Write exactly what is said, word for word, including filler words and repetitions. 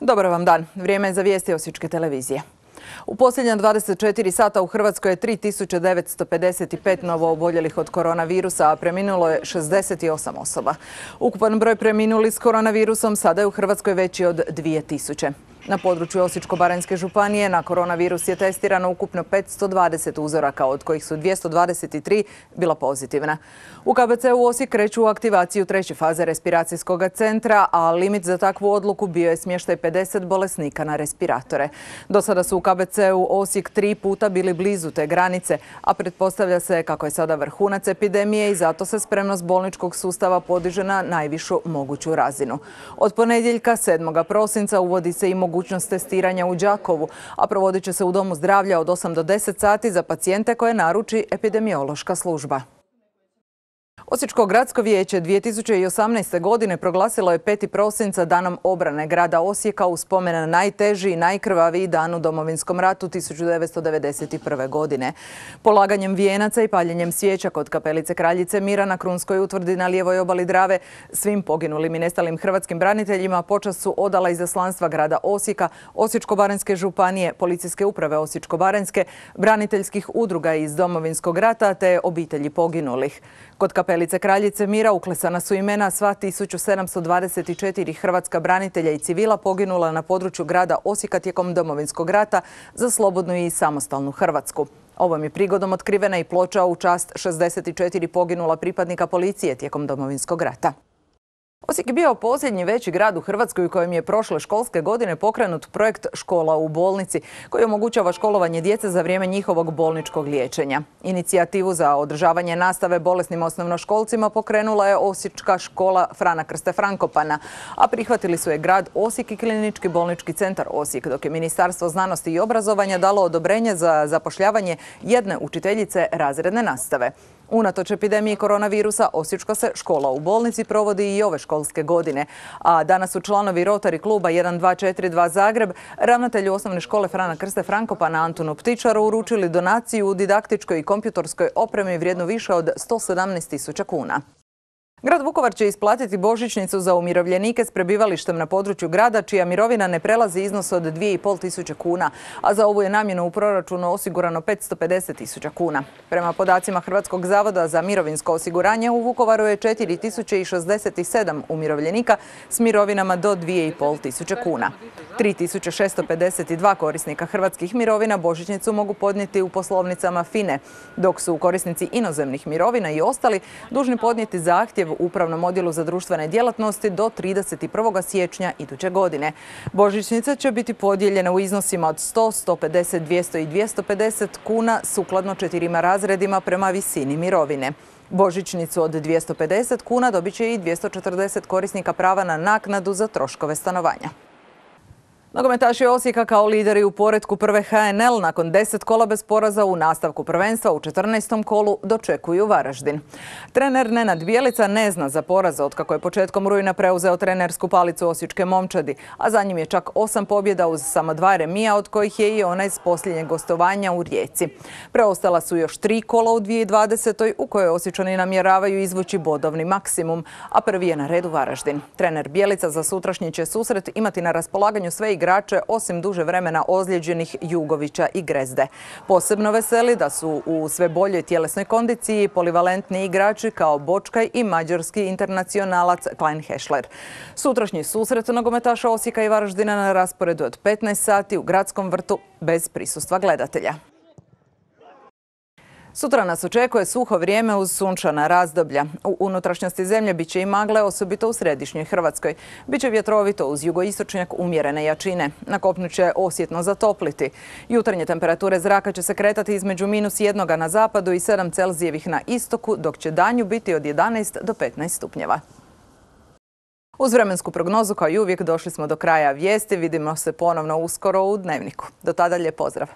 Dobar vam dan. Vrijeme je za vijesti Osječke televizije. U posljednja dvadeset četiri sata u Hrvatskoj je tri tisuće devetsto pedeset pet novo oboljelih od koronavirusa, a preminulo je šezdeset osam osoba. Ukupan broj preminulih s koronavirusom sada je u Hrvatskoj veći od dvije tisuće. Na području Osječko-baranjske županije na koronavirus je testirano ukupno petsto dvadeset uzoraka, od kojih su dvjesto dvadeset tri bila pozitivna. U K B C-u Osijek kreću u aktivaciju treće faze respiracijskog centra, a limit za takvu odluku bio je smještaj pedeset bolesnika na respiratore. Do sada su u K B C-u Osijek tri puta bili blizu te granice, a pretpostavlja se kako je sada vrhunac epidemije i zato se spremnost bolničkog sustava podiže na najvišu moguću razinu. Od ponedjeljka sedmog prosinca uvodi se i mogućnost testiranja u Đakovu, a provodit će se u Domu zdravlja od osam do deset sati za pacijente koje naruči epidemiološka služba. Osječko gradsko vijeće dvije tisuće osamnaeste. godine proglasilo je peti prosinca danom obrane grada Osijeka u spomen na najteži i najkrvaviji dan u Domovinskom ratu tisuću devetsto devedeset prve. godine. Polaganjem vijenaca i paljenjem svijeća kod kapelice Kraljice Mira na Krunskoj utvrdi na lijevoj obali Drave svim poginulim i nestalim hrvatskim braniteljima počast su odala izaslanstva grada Osijeka, Osječko-baranjske županije, Policijske uprave Osječko-baranjske, braniteljskih udruga iz Domovinskog rata te obitelji poginulih. Kod kapelice Kraljice Mira uklesana su imena sva tisuću sedamsto dvadeset četiri hrvatska branitelja i civila poginula na području grada Osijeka tijekom Domovinskog rata za slobodnu i samostalnu Hrvatsku. Ovom je prigodom otkrivena i ploča u čast šezdeset četiri poginula pripadnika policije tijekom Domovinskog rata. Osijek je bio posljednji veći grad u Hrvatskoj u kojem je prošle školske godine pokrenut projekt Škola u bolnici, koji omogućava školovanje djece za vrijeme njihovog bolničkog liječenja. Inicijativu za održavanje nastave bolesnim osnovnoškolcima pokrenula je Osječka škola Frana Krste Frankopana, a prihvatili su je grad Osijek i Klinički bolnički centar Osijek, dok je Ministarstvo znanosti i obrazovanja dalo odobrenje za zapošljavanje jedne učiteljice razredne nastave. Unatoč epidemiji koronavirusa, Osječka se škola u bolnici provodi i ove školske godine, a danas su članovi Rotary kluba jedan dva četiri dva Zagreb ravnatelju osnovne škole Frana Krste Frankopana Antunu Ptičaru uručili donaciju u didaktičkoj i kompjutorskoj opremi vrijednu više od sto sedamnaest tisuća kuna. Grad Vukovar će isplatiti božićnicu za umirovljenike s prebivalištem na području grada čija mirovina ne prelazi iznos od dvije i pol tisuće kuna, a za ovu je namjenu u proračunu osigurano petsto pedeset tisuća kuna. Prema podacima Hrvatskog zavoda za mirovinsko osiguranje u Vukovaru je četiri tisuće šezdeset sedam umirovljenika s mirovinama do dvije i pol tisuće kuna. tri tisuće šesto pedeset dva korisnika hrvatskih mirovina božićnicu mogu podnijeti u poslovnicama FINE, dok su korisnici inozemnih mirovina i ostali dužni podnijeti zahtjev u Upravnom odjelu za društvene djelatnosti do trideset prvog siječnja iduće godine. Božićnice će biti podijeljene u iznosima od sto, sto pedeset, dvjesto i dvjesto pedeset kuna sukladno četirima razredima prema visini mirovine. Božićnicu od dvjesto pedeset kuna dobit će i dvjesto četrdeset korisnika prava na naknadu za troškove stanovanja. Nogometaši Osijeka kao lideri u poretku prve H N L nakon deset kola bez poraza u nastavku prvenstva u četrnaestom kolu dočekuju Varaždin. Trener Nenad Bjelica ne zna za poraz otkako je početkom rujna preuzeo trenersku palicu osječke momčadi, a za njim je čak osam pobjeda uz samo dva remija, od kojih je i onaj s posljednjeg gostovanja u Rijeci. Preostala su još tri kola u dvije tisuće dvadesetoj u kojoj Osječani namjeravaju izvući bodovni maksimum, a prvi je na redu Varaždin. Trener Bjelica za sutrašnji će susret imati na raspolaganju sve igrače osim duže vremena ozlijeđenih Jugovića i Grezde. Posebno veseli da su u sve boljoj tjelesnoj kondiciji polivalentni igrači kao Bočkaj i mađarski internacionalac Klein Hešler. Sutrašnji susret nogometaša Osijeka i Varaždina na rasporedu od petnaest sati u Gradskom vrtu bez prisustva gledatelja. Sutra nas očekuje suho vrijeme uz sunčana razdoblja. U unutrašnjosti zemlje bit će i magle, osobito u središnjoj Hrvatskoj. Biće vjetrovito uz jugoistočnjak umjerene jačine. Na kopnu će osjetno zatopliti. Jutarnje temperature zraka će se kretati između minus jednoga na zapadu i sedam Celzijevih na istoku, dok će danju biti od jedanaest do petnaest stupnjeva. Uz vremensku prognozu kao i uvijek došli smo do kraja vijesti. Vidimo se ponovno uskoro u Dnevniku. Do tada lijep pozdrav.